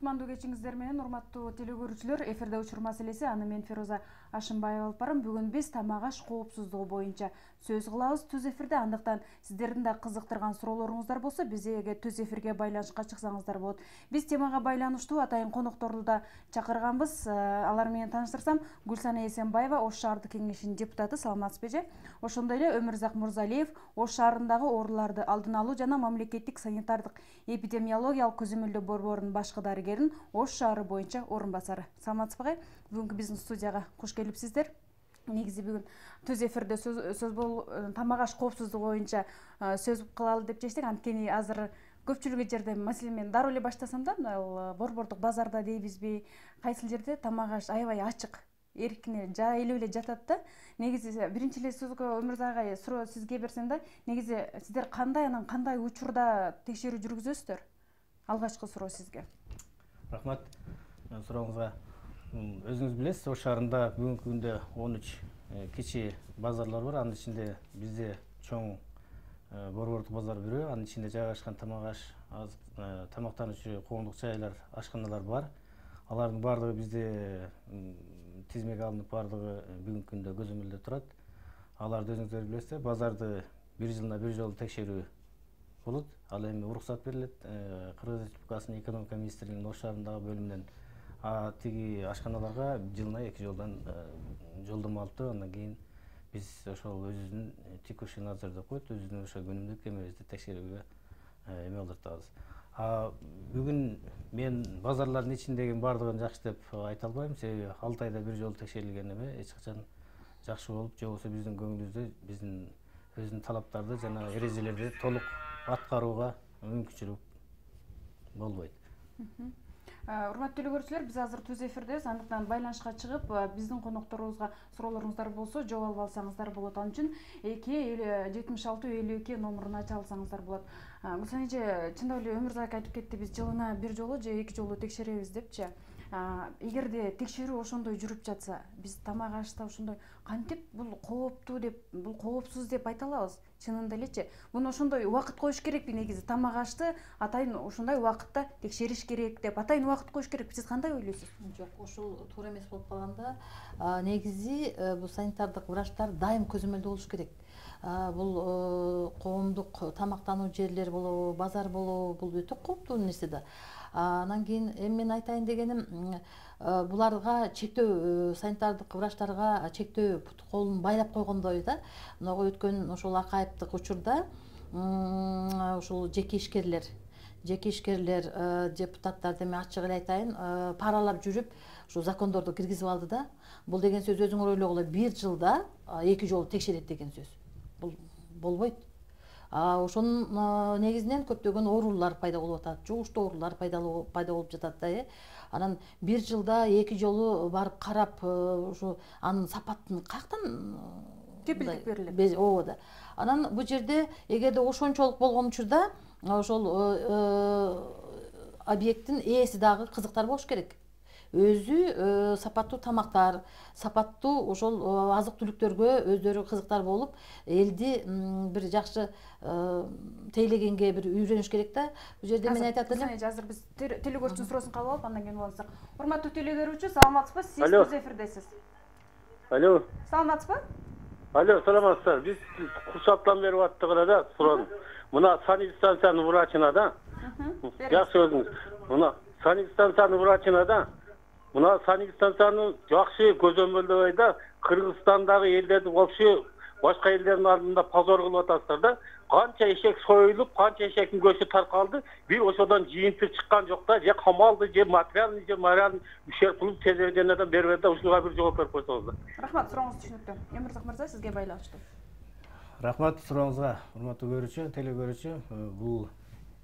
Кутмандуу кечиңиздер менен, урматтуу телекөрүүчүлөр. Эфирде учур маселеси, аны мен Фироза Ашымбаева алып барам. Бүгүн биз тамак аш коопсуздугу боюнча сөз кылабыз түз эфирде. Андыктан сиздердин да кызыктырган суроолоруңуздар болсо, бизге түз эфирге байланышка чыксаңыздар болот. Биз темага байланыштуу атайын конокторду да чакырганбыз. Алар менен тааныштырсам, Гүлсана Эсенбаева, Ош шаардык кеңешинин депутаты, саламатсызбы эже? Ошондой эле Өмүрзак Мурзалиев, Ош шаарындагы ооруларды алдын алуу жана мамлекеттик санитардык эпидемиологиялык көзөмөлдөө борборунун башкы дарыгерин, Ош шаары боюнча орун басары. Саламатсызбы? Бүгүнкү биздин студияга кош келипсиздер. Негизи бүгүн түз эфирде тамак аш коопсуздугу боюнча сөз кылалы деп чечтик. Анткени азыр көпчүлүк жерде, маселен мен дароо эле баштасам да, борбордук базарда дейбизби, кайсыл жерде тамак аш аябай ачык, эркине жайылып эле жатат да. Негизи биринчи эле сөзгө Өмүрзак агай суроо сизге берсем да, негизи сиздер кандай учурда текшерүү жүргүзөсүздөр? Алгачкы суроо сизге. Рахмат сурооңузга. Өзүңүз билесиз, Ош шаарында бүгүнкү күндө 13 кичи базарлар бар. Анын ичинде бизде чоң борбордук базар бирөө, анын ичинде жайгашкан тамак аш, тамактануучу коомдук жайлар, ашканалар бар. Алардын баардыгы бизде тизмеге алынып, баардыгы бүгүнкү күндө көзөмөлдө турат. Аларды өзүңүздөр билесиздер, базарды бир жылына бир жолу текшерүү болот. Ал эми уруксат берилет Кыргыз Республикасынын экономика министрлигинин Ош шаарындагы бөлүмүнөн. Тиги ашканаларга жылына 2 жолдон жолдомо алып туруп, андан кийин биз ошол өзүбүздүн текущий надзор деп коет, өзүбүздүн ошо күнүмдүк эмебизди текшерүүгө эме алдыртабыз. Бүгүн мен базарлардын ичиндеги баардыгын жакшы деп айта албайм, себеби 6 айда бир жолу текшерилген эме эч качан жакшы болуп, же болбосо биздин көңүлүбүздө биздин өзүнүн талаптарды жана эрежелерди толук аткарууга мүмкүнчүлүк болбойт. Урматтуу телекөрүүчүлөр, биз азыр түз эфирдебиз. Андыктан байланышка чыгып, биздин конокторубузга суроолоруңуздар болсо, жооп алып алсаңыздар болот. Ал үчүн 2-76-52 номурун ача алсаңыздар болот. Гүлсана эже, чындап эле Өмүрзак айтып кетти, биз жылына бир жолу же 2 жолу текшеребиз депчи. Эгерде текшерүү ошондой жүрүп жатса, биз тамак ашта ошондой кантип бул кооптуу деп, бул коопсуз деп айта алабыз? Чынында элечи, муну ошондой убакыт коюш керекпи? Негизи тамак ашты атайын ошондой убакытта текшериш керек деп атайын убакыт коюш керекпи? Сиз кандай ойлойсуз? Жок, ошол туура эмес болуп калганда, негизи бул санитардык врачтар дайым көзөмөлдө болуш керек. Бул коомдук тамактануу жерлер болобу, базар болобу, бул өтө кооптуу нерсе да. Анан кийин мен айтайын дегеним, буларга чектөө, санитардык врачтарга чектөө пут колун байлап койгондой да. Мына өткөн ошол акайыптык учурда ошол жеке ишкерлер, депутаттар деме ачык эле айтайын, паралап жүрүп, ушу закондорду киргизип алды да. Бул деген сөз өзүңөр ойлогула, бир жылда 2 жолу текшерет деген сөз. Бул болбойт. Ошонун негизинен көптөгөн оорулар пайда болуп атат, жугуштуу оорулар пайда болуп жатат да. Анан бир жылда 2 жолу барып карап, ушу анын сапатын каяктан кепилдик берилет? Ооба да. Анан бул жерде эгерде ошончолук болгон учурда ошол объекттин ээси дагы кызыктар болуш керек. Өзү сапаттуу тамактар, сапаттуу ошол азык түлүктөргө өздөрү кызыктар болуп, элди бир жакшы тейлегенге бир үйрөнүш керек да. Бул жерде мен айтат элем. Азыр биз телекөрүүчүнүн суроосун кабыл алып, андан кийин улантсак. Урматтуу телекөрүүчү, саламатсызбы? Сиз түз эфирдесиз. Алло. Саламатсызбы? Алло, саламатсыздар. Биз курсаттан берип аттык да, суроону. Мына санэпидстанциянын врачына да. Жакшы өзүңүз. Мына санэпидстанциянын врачына да. Мына санэпидстанцияны жакшы көзөмөлдөбөй да, Кыргызстандагы элдерди болчу, башка элдердин алдында позор кылып атасыздар да. Канча эшек союлуп, канча эшектин көчү таркалды, бир ошодон жыйынтык чыккан жок да, же камалды, же материальный, же моральный ущерб кылып телевидениеден бербей да, ушуга бир жооп берип койсоңуздар. Рахмат, сурооңуз түшүнүктүү. Өмүрзак мырза, сизге байланыштуу. Рахмат сурооңузга, урматтуу көрүүчү, телекөрүүчү. Бул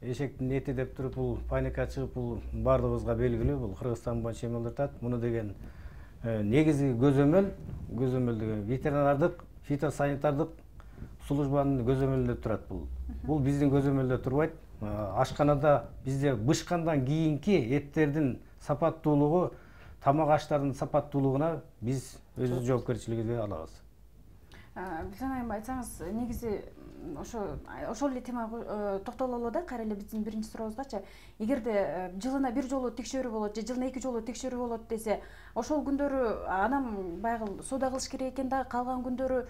эшектин эти деп туруп, бул паника чыгып, бул баардыгыбызга белгилүү, бул Кыргызстан боюнча эме алдыртат. Муну деген негизи көзөмөл деген ветеринардык, фитосанитардык службанын көзөмөлүндө турат бул. Бул биздин көзөмөлдө турбайт. Ашканада бизде бышкандан кийинки эттердин сапаттуулугу, тамак аштардын сапаттуулугуна биз өз жоопкерчилигибизди алабыз. Гүлсана айым, айтсаңыз, негизи ошол эле темага токтололу да, кайра эле биздин биринчи сурообузгачы. Эгерде жылына бир жолу текшерүү болот же жылына 2 жолу текшерүү болот десе, ошол күндөрү анан баягы соода кылыш керек экен да, калган күндөрү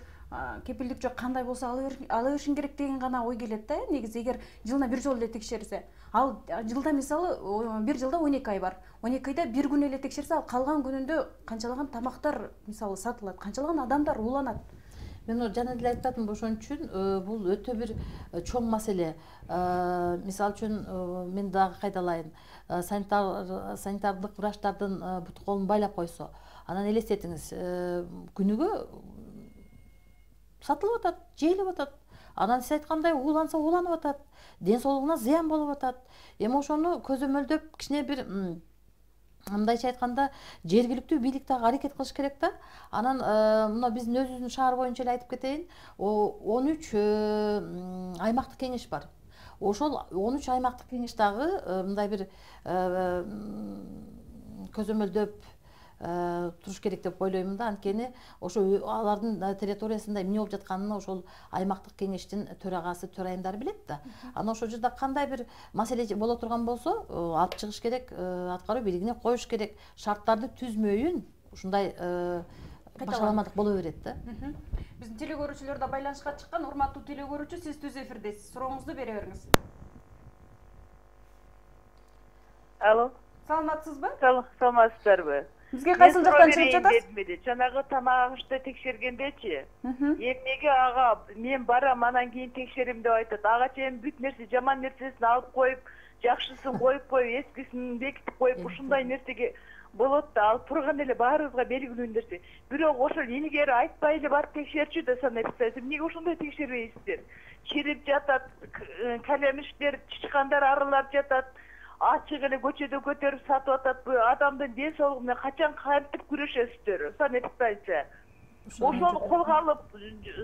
кепилдик жок, кандай болсо ала беришин керек деген гана ой келет да. Негизи эгер жылына бир жолу эле текшерсе, ал жылда мисалы бир жылда 12 ай бар. 12 айда бир күн эле текшерсе, ал калган күнүндө канчалаган тамактар мисалы сатылат, канчалаган адамдар ууланат. Мен жана деле айтып атам, ошон үчүн бул өтө бир чоң маселе. Мисалы үчүн мен дагы кайдалайын. Санитардык врачтардын бут колун байлап койсо, анан элестетиңиз, күнүгө сатылып атат, жейилип атат. Анан сиз айткандай ууланса ууланып атат, ден соолугуна зыян болуп атат. Эми ошону көзөмөлдөп кичине бир мындайча айтканда жергиликтүү бийлик дагы аракет кылыш керек да. Анан мына биздин өзүбүздүн шаар боюнча эле айтып кетейин, 13 аймактык кеңеш бар. Ошол 13 аймактык кеңеш дагы мындай бир көзөмөлдөп туруш керек деп ойлоймун да. Анткени ошо алардын территориясында эмне болуп жатканын ошол аймактык кеңештин төрагасы, төрайымдары билет да. Анан ошол жерде кандай бир маселе боло турган болсо, алып чыгыш керек, аткаруу бийлигине коюш керек. Шарттарды түзмөйүн ушундай башаламадык боло берет да. Биздин телекөрүүчүлөр да байланышка чыккан. Урматтуу телекөрүүчү, сиз түз эфирдесиз. Сурооңузду бере бериңиз. Алло. Саламатсызбы? Саламатсыздарбы? Бизге кайсыл жактан чыгып жатасыз? Жанагы тамак ашты текшергендечи. Эмнеге ага мен барам, анан кийин текшерим деп айтат. Ага чейин бүт нерсе, жаман нерсесин алып коюп, жакшысын коюп, эскисин бекитип коюп, ушундай нерсеге болот да. Ал турган эле баарыбызга белгилүү нерсе. Бирок ошол илгери айтпай эле барып текшерчү да санайсыздар. Эмнеге ошондой текшербейсиздер? Чирип жатат, калемиштер, чычкандар аралап жатат. Ачык эле көчөдө көтөрүп сатып атат. Адамдын ден соолугу менен качан кантип күрөшөсүздөр? Санитарча. Ошону колго алып,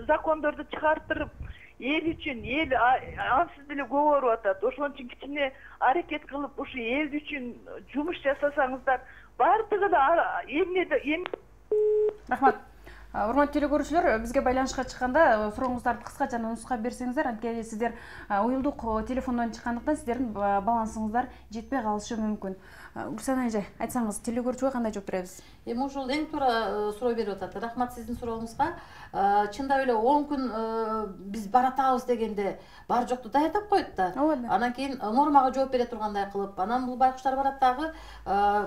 закондорду чыгартырып, эл үчүн, эл ансыз деле көп ооруп атат. Ошон үчүн кичине аракет кылып, ушу эл үчүн жумуш жасасаңыздар, баардыгы да эмне. Рахмат. Урматтуу телекөрүүчүлөр, бизге байланышка чыкканда сурооңуздарды кыскача нуска берсеңиздер, анткени сиздер уюлдук телефондон чыккандыктан сиздердин балансыңыздар жетпей калышы мүмкүн. Гүлсана эже, айтсаңыз, телекөрүүчүгө кандай жооп беребиз? Эми ошол эң туура суроо берип атат. Рахмат сиздин сурооңузга. Чындап эле 10 күн биз баратабыз дегенде бар жокту даярдап коет да. Анан кийин нормага жооп бере тургандай кылып, анан бул байкуштар барат дагы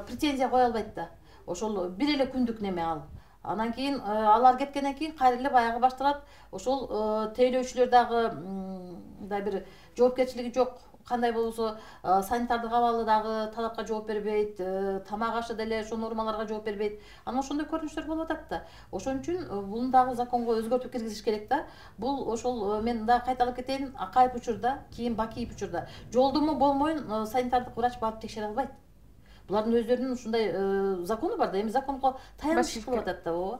претензия кое албайт да. Ошол бир эле күндүк неме ал. Анан кийин алар кеткенден кийин кайра эле баягы башталат. Ошол тейлөөчүлөр дагы мындай бир жоопкерчилиги жок. Кандай болсо санитардык абалы дагы талапка жооп бербейт, тамак ашы деле ошол нормаларга жооп бербейт. Анан ошондой көрүнүштөр болуп атат да. Ошон үчүн буну дагы законго өзгөртүп киргизиш керек да. Бул ошол мен дагы кайталап кетейин, Акаев учурда, кийин Бакиев учурда жолдомо болмойун санитардык врач барып текшере албайт. Булардын өздөрүнүн ушундай закону бар да. Эми законго таянышып кылып атат да, ооба.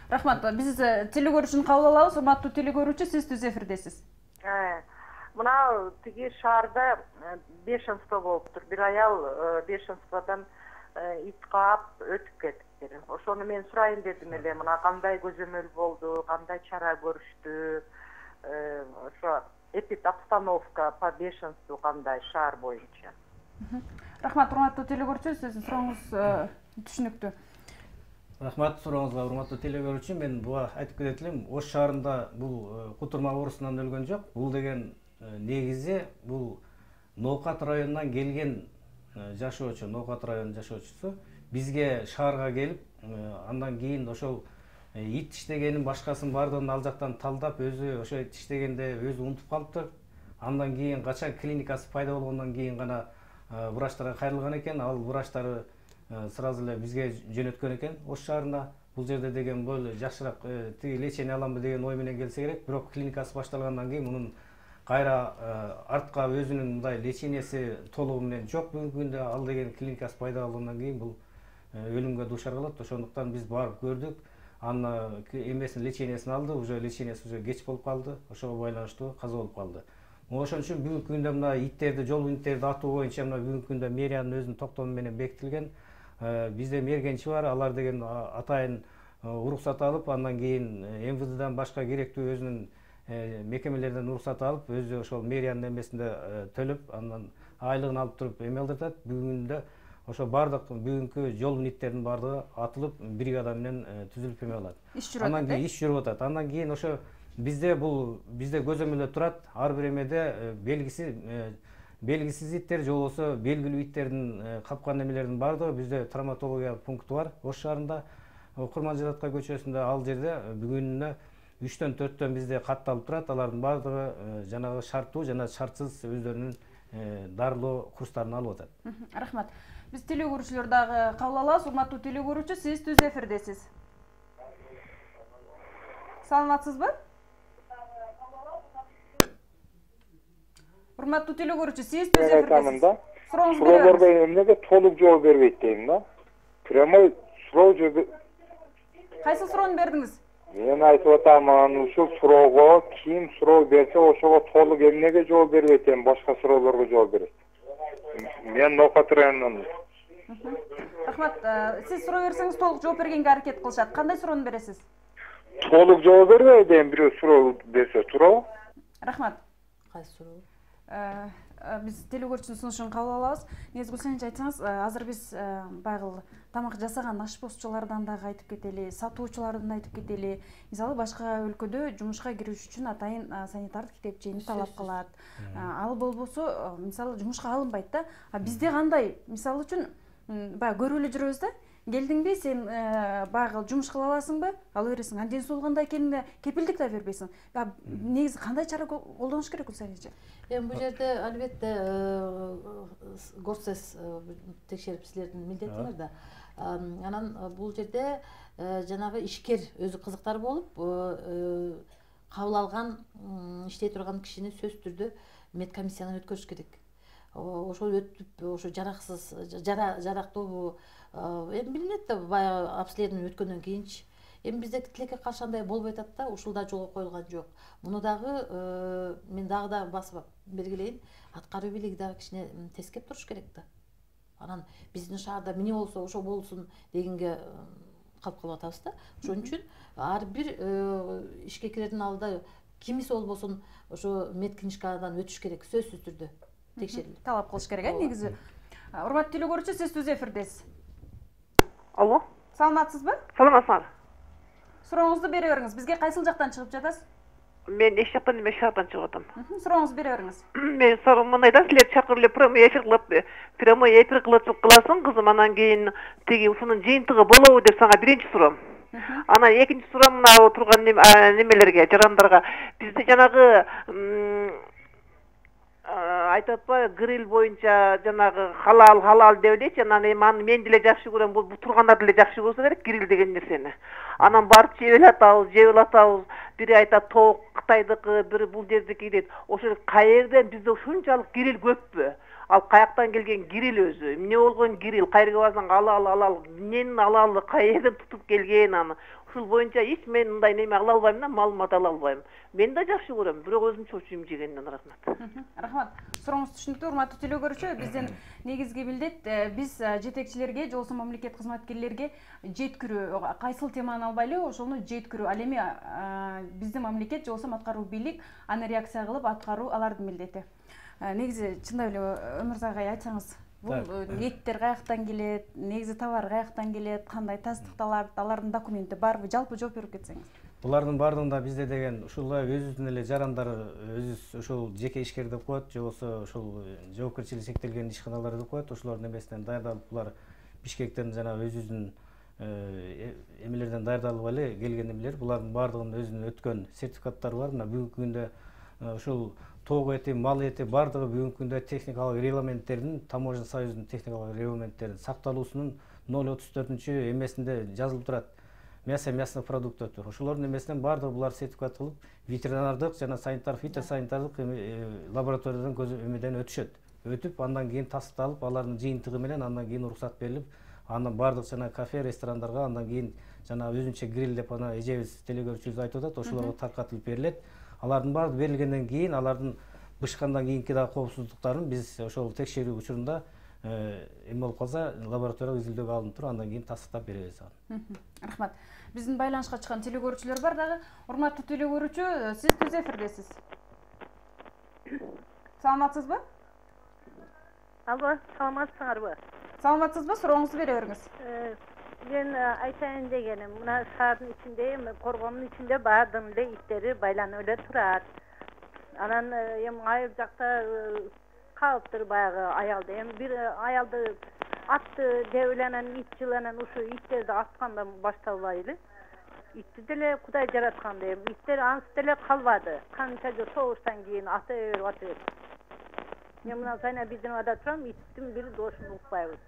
Рахмат. Биз телекөрүүчүнү кабыл алабыз. Урматтуу телекөрүүчү, сиз түз эфирдесиз. Мына тиги шаарда бешенство болуптур. Бир аял бешенстводан ит каап өтүп кетиптир. Ошону мен сурайын дедим эле. Мына кандай көзөмөл болду, кандай чара көрүштү? Ошо эпидобстановка по бешенству кандай шаар боюнча? Рахмат, урматтуу телекөрүүчү, сиздин сурооңуз түшүнүктүү. Рахмат сурооңузга, урматтуу телекөрүүчү. Мен буга айтып кетет элем, Ош шаарында бул кутурма оорусунан өлгөн жок. Бул деген негизи бул Ноокат районунан келген жашоочу, Ноокат районунун жашоочусу бизге шаарга келип, андан кийин ошол ит тиштегенин башкасын баардыгын ал жактан талдап, өзү ошо тиштегенде өзү унутуп калыптыр. Андан кийин качан клиникасы пайда болгондон кийин гана врачтарга кайрылган экен. Ал врачтары сразу эле бизге жөнөткөн экен Ош шаарына. Бул жерде деген более жакшыраак тиги лечение аламбы деген ой менен келсе керек. Бирок клиникасы башталгандан кийин мунун кайра артка өзүнүн мындай леченияси толугу менен жок. Бүгүнкү күндө ал деген клиникасы пайда болгондон кийин бул өлүмгө дуушар кылат. Ошондуктан биз барып көрдүк. Аны эмесин лечениясын алды, уже лечениясы уже кеч болуп калды. Ошого байланыштуу каза болуп калды. Ошон үчүн бүгүнкү күндө мына иттерди, жол иттерди атуу боюнча мына бүгүнкү күндө мэриянын өзүнүн токтому менен бекитилген. Бизде мергенчи бар, алар деген атайын уруксат алып, андан кийин МВДдан башка керектүү өзүнүн мекемелерден уруксат алып, өзү ошол мэриянын эмесинде төлөп, андан айлыгын алып туруп эме алдыртат. Бүгүндө ошо бардык бүгүнкү жол ниеттердин бардыгы атылып, бригада менен түзүлүп эме алат. Андан кийин иш жүрүп атат. Андан кийин ошо бизде көзөмөлдө турат, ар бир эмеде белгисиз иттер же болбосо белгилүү иттердин капкан эмелердин бардыгы bizde травматология пункту бар. Ош шаарында Курманжараткай көчөсүндө ал жерде бүгүнүнө 3-төн 4төн bizde катталып турат. Алардын бардыгы жанагы шарттуу жана шартсыз өздөрүнүн дарылоо курстарын алып атат. Рахмат. Биз теле көрүүчүлөр дагы кабыл алабыз. Урматтуу теле көрүүчү, сиз түз эфирдесиз. Саламатсызбы? Урматтуу теле көрүүчү, сиз түз эфирдесиз. Суроолорго эмнеге толук жооп бербейт дейм да. Прямой суроо жооп. Кайсы суроону бердиңиз? Мен айтып атам, ушул суроого ким суроо берсе, ошого толук эмнеге жооп бербейт дейм, башка суроолорго жооп берет. Мен Ноокат районунан. Рахмат. Сиз суроо берсеңиз толук жооп бергенге аракет кылышат. Кандай суроону бересиз? Толук жооп бербей дейм, бирөө суроо берсе туурабы? Рахмат. Кайсы суроо? Биз теле көрүүчүнүн сунушун кабыл алабыз. Негизи Гүлсайынчы айтсаңыз, азыр биз байгыл тамак жасаган ашпозчулардан дагы айтып кетели, сатуучулардан айтып кетели. Мисалы башка өлкөдө жумушка кириш үчүн атайын санитардык китепчени талап кылат. Ал болбосо, мисалы жумушка алынбайт да. Бизде кандай? Мисалы үчүн баягы көрүп эле жүрөбүз да. Келдиңби, сен баягы жумуш кыла аласыңбы? Ала бересиң. Анден соң кандай экенине кепилдик да бербейсиң. Негизи кандай чара колдонуш керек Гүлсайынчы? Эми бул жерде албетте горсез текшерип силердин милдетиңер да. Анан бул жерде жанагы ишкер өзү кызыктар болуп, кабыл алган иштей турган кишини сөзсүз түрдө медкомиссиядан өткөрүш керек. Ошол өтүп, ошо жараксыз, жарактуу эми билинет да, баягы обследование өткөндөн кийинчи. Эми бизде тилекке каршы андай болбой атат да, ушул да жолго коюлган жок. Муну дагы мен дагы басып бергилейин, аткаруу бийлиги дагы кичине тескеп туруш керек да. Анан биздин шаарда эмне болсо ошо болсун дегенге калып калып атабыз да. Ошон үчүн ар бир ишке кирердин алдыда кимиси болбосун ошо медкнижкадан өтүш керек, сөзсүз түрдө текшерилип. Талап кылыш керек, негизи. Урматтуу теле көрүүчү, сиз түз эфирдесиз. Алло. Саламатсызбы? Саламатсызбы. Сурооңузду бере бериңиз. Бизге кайсыл жактан чыгып жатасыз? Мен эч жактан эмес, шаардан чыгып атам. Сурооңузду бере бериңиз. Мен суроом мындай да, силер чакырып эле прямой эфир кыласың, кызым, анан кийин тиги ушунун жыйынтыгы болобу деп сага биринчи суроом. Анан экинчи суроом мына турган немелерге, жарандарга. Бизде жанагы айтып атпайбы, гриль боюнча жанагы халал деп элечи, анан эми аны мен деле жакшы көрөм, бул тургандар деле жакшы көрсө керек гриль деген нерсени. Анан барып жеп атабыз, бири айтат тоок Кытайдыкы, бири бул жердики дейт. Ошо каерден бизде ушунчалык гриль көппү? Ал каяктан келген гриль өзү? Эмне болгон гриль? Кайерге барсаң алал, эмненин алалы, каерден тутуп келген аны? Ушул боюнча эч мен мындай неме ала албайм да, маалымат ала албайм. Мен да жакшы көрөм, бирок өзүмчө очуйм жегенден. Рахмат. Рахмат. Сурооңуз түшүнүктүү, урматтуу теле көрүүчү. Биздин негизги милдет биз жетекчилерге, же болбосо мамлекет кызматкерлерге жеткирүү, кайсыл теманы албайлы, ошону жеткирүү. Ал эми биздин мамлекет же болбосо аткаруу бийлик аны реакция кылып аткаруу алардын милдети. Негизи чындап эле Өмүрзак агай айтсаңыз, бул ниеттер каяктан келет, негизи товар каяктан келет, кандай тастыкталат, алардын документи барбы, жалпы жооп берип кетсеңиз. Булардын баардыгында бизде деген ушулай өзүбүздүн эле жарандар, өзүбүз ушул жеке ишкер деп коет, же болбосо ушул жоопкерчилиги шектелген ишканалар деп коет, ошолордун эмесинен даярдалып, булар Бишкектен жана өзүбүздүн эмелерден даярдалып эле келген эмелер. Булардын баардыгынын өзүнүн өткөн сертификаттары бар. Мына бүгүнкү күндө ушул тоок эти, мал эти баардыгы бүгүнкү күндө техникалык регламенттердин, Таможня союзунун техникалык регламенттерин сакталуусунун 034 эмесинде жазылып турат. Мясо мясных продуктов. Ошолордун эмесинен баардыгы булар сертификат кылып, ветеринардык жана фитосанитардык лабораториядан эмеден өтүшөт. Өтүп, андан кийин тастыкталып, алардын жыйынтыгы менен андан кийин уруксат берилип, андан баардык жана кафе, ресторандарга андан кийин жана өзүнчө гриль деп ана эжебиз теле көрүүчүбүз айтып атат, ошолорго таркатылып берилет. Алардын баардыгы берилгенден кийин, алардын бышкандан кийинки да коопсуздуктарын биз ошол текшерүү учурунда эме болуп калса лабораториялык изилдөөгө алынып туруп андан кийин тастыктап беребиз аны. Рахмат. Биздин байланышка чыккан телекөрүүчүлөр бар дагы. Урматтуу телекөрүүчү, сиз түз эфирдесиз. Саламатсызбы? Алло, саламатсыңарбы? Саламатсызбы? Сурооңузду бере бериңиз. Мен айтайын дегеним, мына шаардын ичинде, коргоонун ичинде баардыгынын эле иттери байланып эле турат. Анан эми айыл жакта калыптыр баягы аялда. Эми бир аялды атты деп эле анан ит жыланан ушу иттерди аткандан башталбайлы. Итти деле Кудай жараткан эми иттер ансыз деле калбады. Канча жыл согуштан кийин ата берип. Мен мына Сайна Бидиновада турам, иттин бир дошун укпайбыз.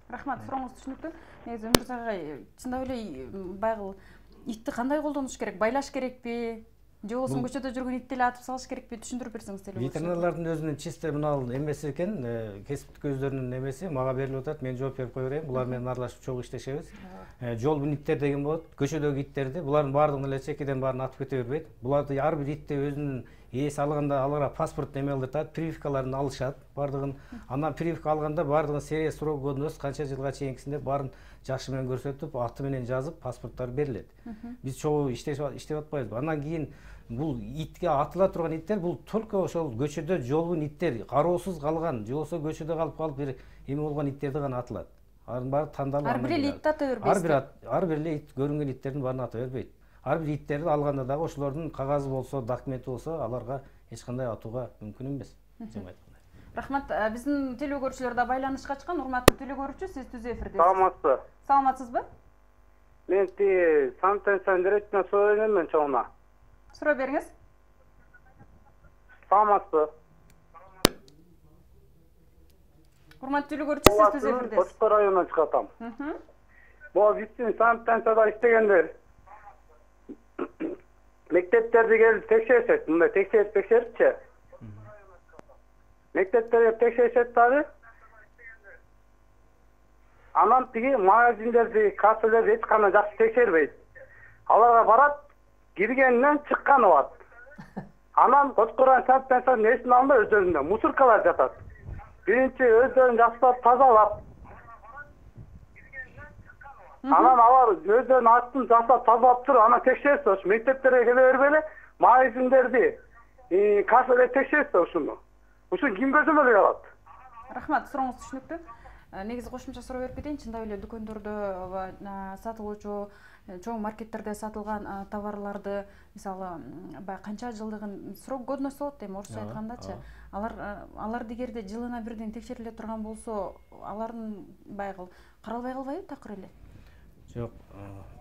Рахмат, сурооңуз түшүнүктүү. Негизи Өмүрзак агай, чындап эле баягы итти кандай колдонуш керек? Байлаш керекпи? Же болбосо көчөдө жүргөн итти эле атып салыш керекпи? Түшүндүрүп берсеңиз деле. Ветеринарлардын өзүнүн чисто мына эмеси экен, кесиптик өздөрүнүн эмеси мага берилип атат. Мен жооп берип кое берейин. Булар менен аралашып чогуу иштешебиз. Жол иттер деген болот. Көчөдөгү иттерди, булардын баардыгын эле чекеден баарын атып кете бербейт. Буларды ар бир итти өзүнүн ээси алганда аларга паспорт эме кылдыртат, прививкаларын алышат баардыгын. Андан прививка алганда баардыгын серия срок годность канча жылга чейинкисинде баарын жакшы менен көрсөтүп, аты менен жазып, паспорттары берилет. Биз чогуу иштеп атпайбызбы? Андан кийин бул итке атыла турган иттер бул только ошол көчөдө жолбун иттер, кароосуз калган, же болбосо көчөдө калып бир эме болгон иттерди гана атылат. Анын баары тандалып. Ар бир эле итти ата бербейт. Ар бир эле ит көрүнгөн иттердин баарын ата бербейт. Ар бир иттерди алганда дагы ошолордун кагазы болсо, документи болсо, аларга эч кандай атууга мүмкүн эмес. Рахмат. Биздин телекөрүүчүлөр да байланышка чыккан. Урматтуу телекөрүүчү, сиз түз эфирдесиз. Саламатсызбы? Саламатсызбы? Мен санитарный директоруна суроо беремин чоңуна. Суроо бериңиз. Саламатсызбы? Урматтуу телекөрүүчү, сиз түз эфирдесиз. Бошко районунан чыгатам. Могу биздин санитарияда иштегендер мектептерди келип текшеришет, мындай текшерипчи. Мектептерди текшеришет дагы. Анан тиги магазиндерди, кассалерди эч кандай жакшы текшербейт. Аларга барат, киргенинен чыкканы бар. Анан Кочкорайын санитариясынын эсин алында өздөрүндө мусоркалар жатат. Биринчи өздөрүн жакшылап тазалап, анан алар өздөрүнүн атын жасап тазалап туруп, анан текшерсе, ошо мектептерге келе бербей эле магазиндерди, кассалерди текшерсе ушуну. Ушуну ким көзөмөлгө алат? Рахмат, сурооңуз түшүнүктүү. Негизи кошумча суроо берип кетейин. Чындап эле дүкөндөрдө сатылуучу, чоң маркеттерде сатылган товарларды, мисалы, баягы канча жылдыгын срок годность болот дейм, орусча айткандачы. Алар дегерде жылына бирден текшериле турган болсо, алардын баягы каралбай калбайбы такыр эле? Жок,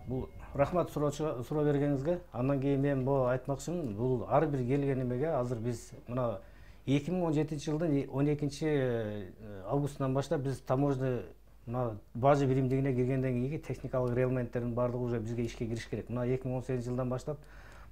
бул рахмат суроо бергениңизге. Андан кийин мен бул айтмакчымын, бул ар бир келген эмеге азыр биз мына 2017-жылдын 12-августунан баштап биз таможня бажы биримдигине киргенден кийинки техникалык регламенттердин баардыгы уже бизге ишке кириш керек. Мына 2018-жылдан баштап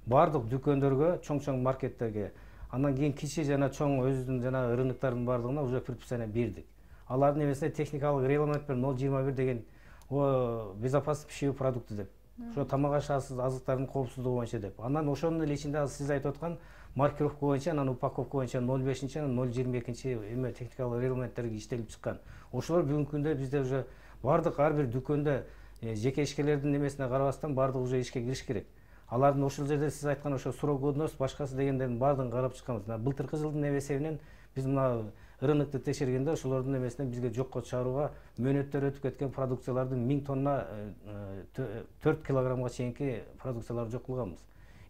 баардык дүкөндөргө, чоң маркеттерге, андан кийин кичи жана чоң өзүнүн жана рыноктардын баардыгына уже предписание бердик. Алардын эмесине техникалык регламент 021 деген безопасность пищевых продуктов деп. Ошо тамак аш азыктардын коопсуздугу боюнча деп. Андан ошонун эле ичинде сиз айтып аткан маркировка боюнча, анан упаковка боюнча 05-чи, 022-чи эме техникалык регламенттерге иштелип чыккан. Ошолор бүгүнкү күндө бизде уже баардык ар бир дүкөндө жеке ишкерлердин эмесине карабастан баардыгы уже ишке кириш керек. Алардын ошол жерде сиз айткан ошо срок годность башкасы дегендердин баардыгын карап чыкканбыз. Былтыркы жылдын эсебинен биз мына рынокту текшергенде ошолордун эмесинен бизге жокко чыгарууга мөөнөттөр өтүп кеткен продукциялардын 1000 тонна 4 килограммга чейинки продукцияларды жок кылганбыз.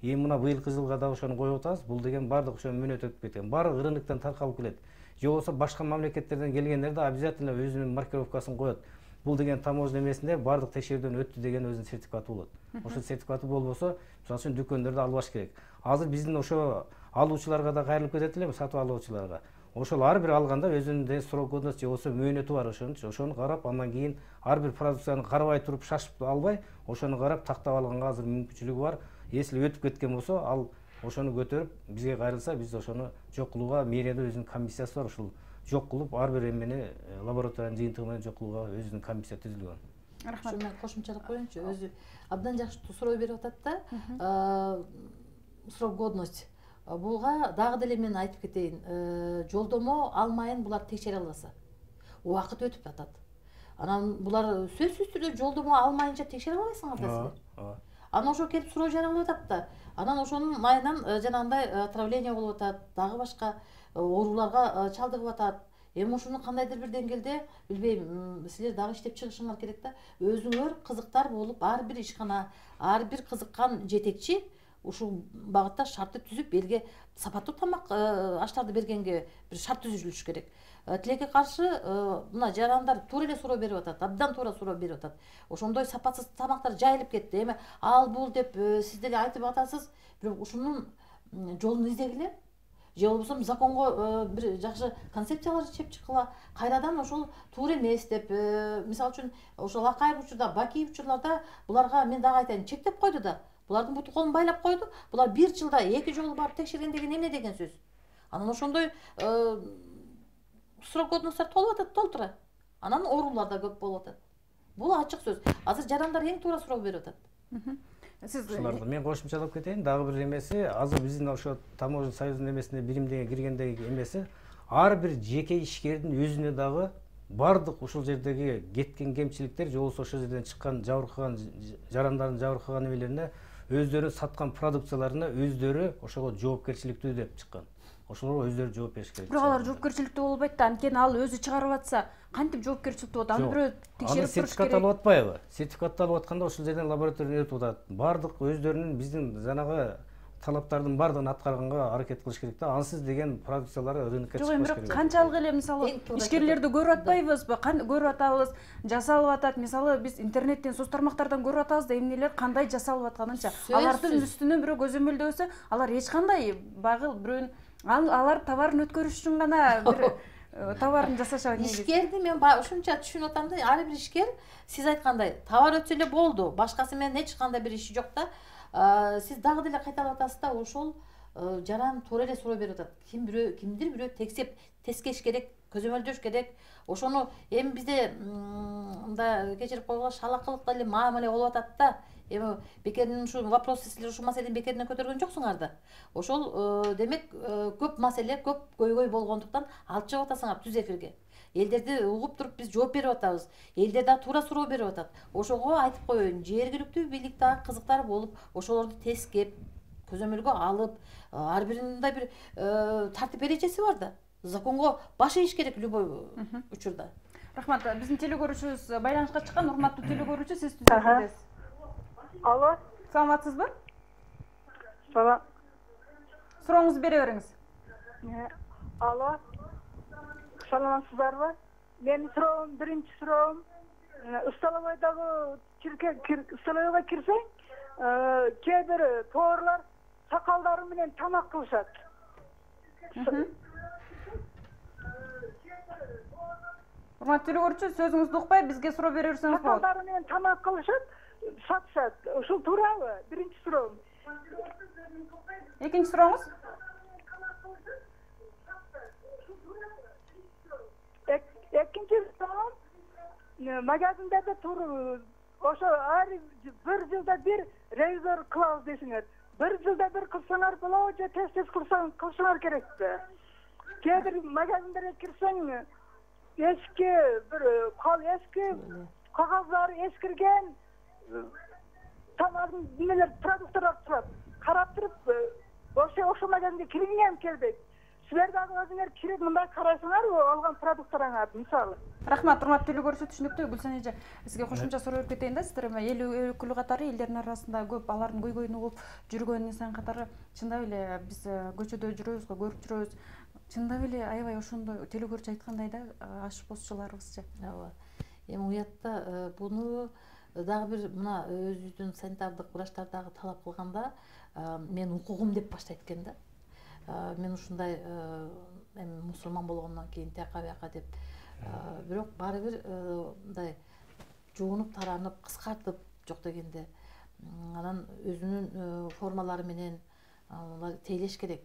Эми мына быйылкы жылга да ошону коюп атабыз. Бул деген баардык ошо мөөнөт өтүп кеткен. Баардык рыноктон таркалып келет. Же болбосо башка мамлекеттерден келгендер да обязательно өзүнүн маркировкасын коет. Бул деген таможня эмесинде баардык текшерүүдөн өттү деген өзүнүн сертификаты болот. Ошол сертификаты болбосо, мисалы үчүн дүкөндөрдө албаш керек. Азыр биздин ошо алуучуларга да кайрылып кетет элем, сатып алуучуларга. Ошол ар бир алганда өзүнүн срок годность же болбосо мөөнөтү бар ошону карап, андан кийин ар бир продукцияны карабай туруп шашып албай, ошону карап тактап алганга азыр мүмкүнчүлүгү бар. Если өтүп кеткен болсо, ал ошону көтөрүп бизге кайрылса, биз ошону жок кылууга мэрияда өзүнүн комиссиясы бар. Ушул жок кылып, ар бир эмени лабораториянын жыйынтыгы менен жок кылууга өзүнүн комиссия түзүлгөн. Рахмат. Мен кошумчалап коеюнчу, өзү абдан жакшы суроо берип атат да. Срок годность. Буга дагы деле мен айтып кетейин, жолдомо алмайын булар текшере албаса. убакыт өтүп атат. Анан булар сөзсүз түрдө жолдомо алмайынча текшере албайсыңар да силер. Анан ошо келип суроо жаралып атат да. Анан ошонун айынан жанагындай отравление болуп атат, дагы башка ооруларга чалдыгып атат. Эми ушуну кандайдыр бир деңгээлде билбейм, силер дагы иштеп чыгышыңар керек да. Өзүңөр кызыктар болуп, ар бир ишкана, ар бир кызыккан жетекчи ушул багытта шартты түзүп, элге сапаттуу тамак аштарды бергенге бир шарт түзүлүш керек. Тилекке каршы мына жарандар туура эле суроо берип атат, абдан туура суроо берип атат. Ошондой сапатсыз тамактар жайылып кетти. Эми ал бул деп сиз деле айтып атасыз, бирок ушунун жолун издегиле. Же болбосо законго бир жакшы концепциялар чечип чыккыла. Кайрадан ошол туура эмес деп, мисалы үчүн ошол Акаев учурда, Бакиев учурларда буларга мен дагы айтайын, чектеп койду да. Булардын буту колун байлап койду. Булар бир жылда 2 жолу барып текшерген деген эмне деген сөз? Анан ошондой срок годностьтар толуп атат, толтура. Анан оорулар да көп болуп атат. Бул ачык сөз. Азыр жарандар эң туура суроо берип атат. Сиз мен кошумчалап кетейин. Дагы бир эмеси, азыр биздин ошо Таможня союзунун эмесине биримдеге киргендеги эмеси, ар бир жеке ишкердин өзүнө дагы бардык ушул жердеги кеткен кемчиликтер, же болбосо ошол жерден чыккан жабыркаган жарандардын жабыркаган эмелерине, өздөрү саткан продукцияларына өздөрү ошого жоопкерчиликтүү деп чыккан. Ошолорго өздөрү жооп бериш керек. Бирок алар жоопкерчиликтүү болбойт да. Анткени ал өзү чыгарып атса, кантип жоопкерчиликтүү болот? Аны бирөө текшерип туруш керек. Сертификат алып атпайбы? Сертификат алып атканда ошол жерден лабораториядан өтүп атат. Бардык өздөрүнүн биздин жанагы талаптардын бардыгын аткарганга аракет кылыш керек да. Ансыз деген продукциялар рынокко чыкпаш керек. Жок, бирок канчалык эле мисалы ишкерлерди көрүп атпайбызбы? Көрүп атабыз, жасалып атат. Мисалы биз интернеттен, соц тармактардан көрүп атабыз да эмнелер кандай жасалып атканынча. Алардын үстүнө бирөө көзөмөлдөсө, алар эч кандай багыл бирөөнүн алар товарын өткөрүш үчүн гана бир товарын жасашат. Ишкерди мен ушунча түшүнүп атам да, ар бир ишкер сиз айткандай товар өтсө эле болду, башкасы менен эч кандай бир иши жок да. Сиз дагы деле кайталап атасыз да, ошол жаран туура эле суроо берип атат. Кимдир бирөө текстеп, тескеш керек, көзөмөлдөш керек. Ошону эми бизде мындай кечирип койгула шалакылык эле мамиле болуп атат да. Эми бекердин ушу вопросты силер ушул маселени бекерден көтөргөн жоксуңар да. Ошол демек көп маселе, көп көйгөй болгондуктан алып чыгып атасыңар түз эфирге. Элдерди угуп туруп биз жооп берип атабыз. Элдер да туура суроо берип атат. Ошого айтып коеюн, жергиликтүү бийлик дагы кызыктар болуп, ошолорду тескеп, көзөмөлгө алып, ар биринин мындай бир тартип эрежеси бар да. Законго баш ийиш керек любой учурда. Рахмат, биздин телекөрүүчүбүз байланышка чыккан. Урматтуу телекөрүүчү, сиз түз эфирдесиз. Алло. Саламатсызбы? Салам. Сурооңузду бере бериңиз. Алло. Саламатсыздарбы? Менин суроом, биринчи суроом, Ысталабайдагы Ысталабайга кирсең, кээ бир тоорлар сакалдары менен тамак кылышат. Урматтуу телекөрүүчү, сөзүңүздү укпай бизге суроо бере берсеңиз болот. Сакалдары менен тамак кылышат, сатышат. Ушул туурабы? Биринчи суроом. Экинчи сурооңуз? Экинчи суроом, магазиндерде туруп, ошо ар бир жылда бир ревизор кылабыз десиңер. Бир жылда бир кылсаңар болобу же тез кылсаңар керекпи? Кээ бир магазиндерге кирсең, эски бир эски кагаздары эскирген тамагын немелер продукттар турат. Карап туруп, ошо магазинге киргиңем келбейт. Силер дагы өзүңөр кирип мындай карайсыңарбы алган продукттарыңа мисалы? Рахмат, урматтуу телекөрүүчү, түшүнүктүү. Гүлсен эже, сизге кошумча суроо берип кетейин да. Сиздер эл өкүлү катары элдердин арасында көп алардын көйгөйүн угуп жүргөн инсан катары чындап эле биз көчөдө жүрөбүз го, көрүп жүрөбүз. Чындап эле аябай ошондой телекөрүүчү айткандай да, аш посчуларыбызчы. Ооба. Эми уятта буну дагы бир мына өзүбүздүн санитардык врачтар дагы талап кылганда, мен укугум деп баштайт экен да. Мен ушундай эми мусулман болгондон кийин тияка бияка деп, бирок баары бир мындай жуунуп таранып, кыскартып жок дегенде анан өзүнүн формалары менен тейлеш керек.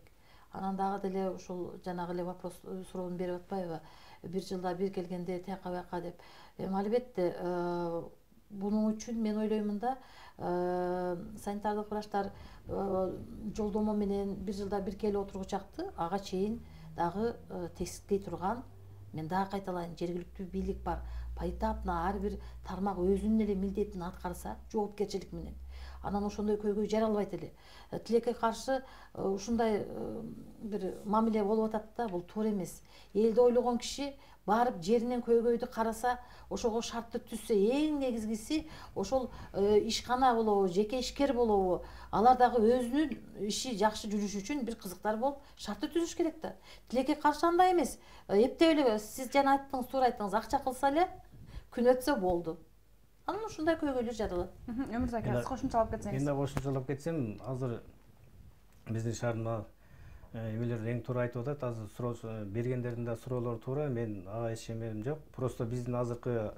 Анан дагы деле ушул жанагы эле вопрос суроону берип атпайбы? Бир жылда бир келгенде тияка бияка деп. Эми албетте бунун үчүн мен ойлоймун да, санитардык врачтар жолдомо менен бир жылда бир келип отургучакты, ага чейин дагы тескей турган Мен дагы кайталайын, жергиликтүү бийлик бар, поэтапно ар бир тармак өзүнүн эле милдетин аткарса, жоопкерчилик менен, анан ошондой көйгөй жаралбайт эле. Тилекке каршы ушундай бир мамиле болуп атат да, бул туура эмес. Элди ойлогон киши барып жеринен көйгөйдү караса, ошого шартты түзсө, эң негизгиси ошол ишкана болобу, жеке ишкер болобу, алар дагы өзүнүн иши жакшы жүрүш үчүн бир кызыктар болуп шартты түзүш керек да. Тилекке каршы андай эмес. Эптеп эле сиз жана айттыңыз, туура айттыңыз, акча кылса эле күн өтсө болду. Анан ушундай көйгөйлөр жаралат. Өмүрзак ака, сиз кошумчалап кетсеңиз. Мен да кошумчалап кетсем, азыр биздин шаарда эмелер эң туура айтып атат. Азыр суроо бергендердин да суроолору туура. Мен ага эч эмем жок. Просто биздин азыркы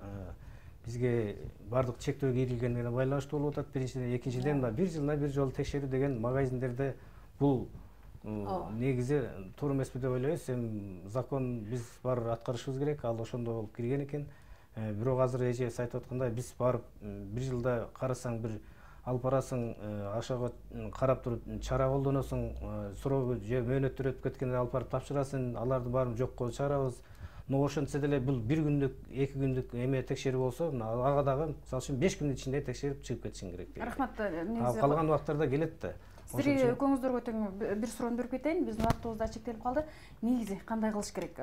бизге бардык чектөө кийилгенине байланыштуу болуп атат. Биринчиден, экинчиден бир жылына бир жолу текшерүү деген магазиндерде бул негизи туура эмеспи деп ойлойбуз. Эми закон биз бар аткарышыбыз керек. Ал ошондой болуп кирген экен. Бирок азыр эжебиз айтып аткандай, биз барып бир жылда карасаң, бир алып барасың, ошого карап туруп чара колдоносуң, суроо же мөөнөттөр өтүп кеткенде алып барып тапшырасың, алардын баарын жокко чыгарабыз. Но ошентсе деле бул бир күндүк, 2 күндүк эме текшерүү болсо, ага дагы мисалы үчүн 5 күндүн ичинде текшерип чыгып кетишиң керек. Рахмат. Калган убактарда келет да. Сизге көңүлүңүздөргө тең бир суроону берип кетейин. Биздин убактыбыз да чектелип калды. Негизи кандай кылыш керек?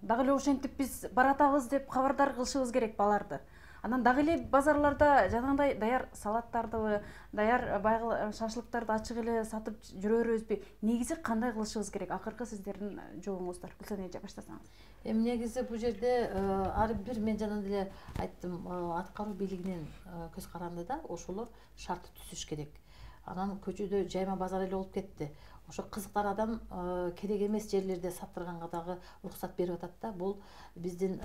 Дагы эле ошентип биз баратабыз деп кабардар кылышыбыз керек баларды. Анан дагы эле базарларда жанагындай даяр салаттарды, даяр шашлыктарды ачык эле сатып жүрө беребизби? Негизи кандай кылышыбыз керек? Акыркы сиздердин жообуңуздар. Гүлсен эже баштасаңыз. Эми негизи бул жерде ар бир, мен жана деле айттым, аткаруу бийлигинин көз каранды да, ошолор шартты түзүш керек. Анан көчөдө жайма базар эле болуп кетти. Ошо кызыктар адам керек эмес жерлерде саттырганга дагы уруксат берип атат да. Бул биздин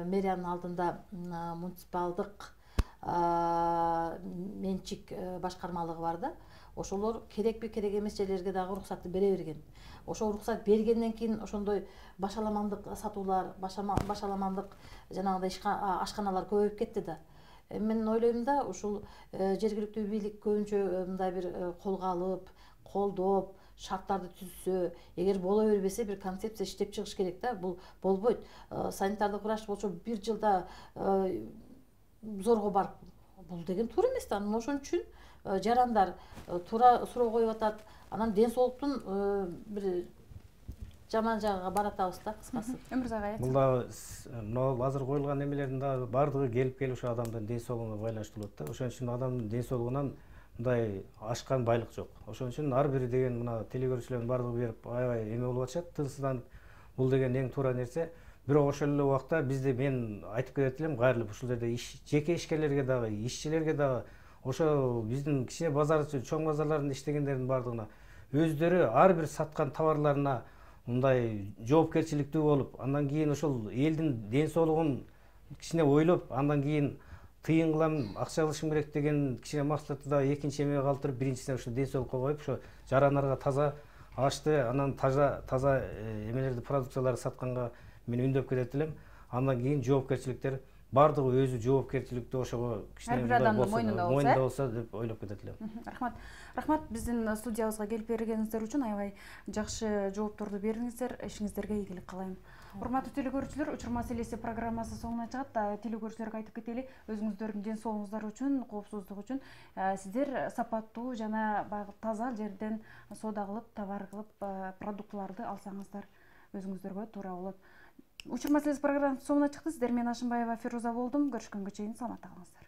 мэриянын алдында муниципалдык менчик башкармалыгы бар да. Ошолор керекпи, керек эмес жерлерге дагы уруксатты бере берген. Ошо уруксат бергенден кийин ошондой башаламандык сатуулар, башаламандык жанагындай ашканалар көбөйүп кетти да. Мен ойлойм да, ушул жергиликтүү бийлик көбүнчө мындай бир колго алып, колдоп, шарттарды түзсө, эгер боло бербесе бир концепция иштеп чыгыш керек да. Бул болбойт. Санитардык врач болчу бир жылда зорго барып, бул деген туура эмес да. Анан ошон үчүн жарандар туура суроо коюп атат. Анан ден соолуктун бир жаман жагыга баратабыз да, кыскасы. Өмүрзак айт. Бул да мына азыр коюлган эмелердин да бардыгы келип ошо адамдын ден соолугуна байланыштуу болот да. Ошон үчүн адамдын ден соолугунан мындай ашкан байлык жок. Ошон үчүн ар бири деген мына телегөрүүчүлөрдүн бардыгы берип аябай эме болуп атышат, тынчсызданып. Бул деген эң туура нерсе. Бирок ошол эле убакта бизде мен айтып кетет элем, кайрылып ушул жерде жеке ишкерлерге дагы, ишчилерге дагы, ошо биздин кичине базарчы, чоң базарларында иштегендердин бардыгына өздөрү ар бир саткан товарларына мындай жоопкерчиликтүү болуп, андан кийин ошол элдин ден соолугун кичине ойлоп, андан кийин тыйын кылам, акча алышым керек деген кичине максатты да экинчи эмеге калтырып, биринчисине ошо ден соолукка коюп, ошо жарандарга таза ашты, анан таза эмелерди, продукцияларды сатканга мен үндөп кетет элем. Андан кийин жоопкерчиликтер бардыгы өзү жоопкерчиликтүү ошого кичине мойнунда болсо деп ойлоп кетет элем. Рахмат биздин студиябызга келип бергениңиздер үчүн, аябай жакшы жоопторду бердиңиздер. Ишиңиздерге ийгилик каалайм. Урматтуу телекөрүүчүлөр, учур маселеси программасы соңуна чыгат. Телекөрүүчүлөргө айтып кетели, өзүңүздөрдүн ден соолугуңуздар үчүн, коопсуздук үчүн сиздер сапаттуу жана баягы таза жерден соода кылып, товар кылып, продуктыларды алсаңыздар өзүңүздөргө туура болот. Учур маселеси программасы соңуна чыкты. Сиздер менен Ашымбаева Фируза болдум. Көрүшкөнгө чейин саламатта калыңыздар.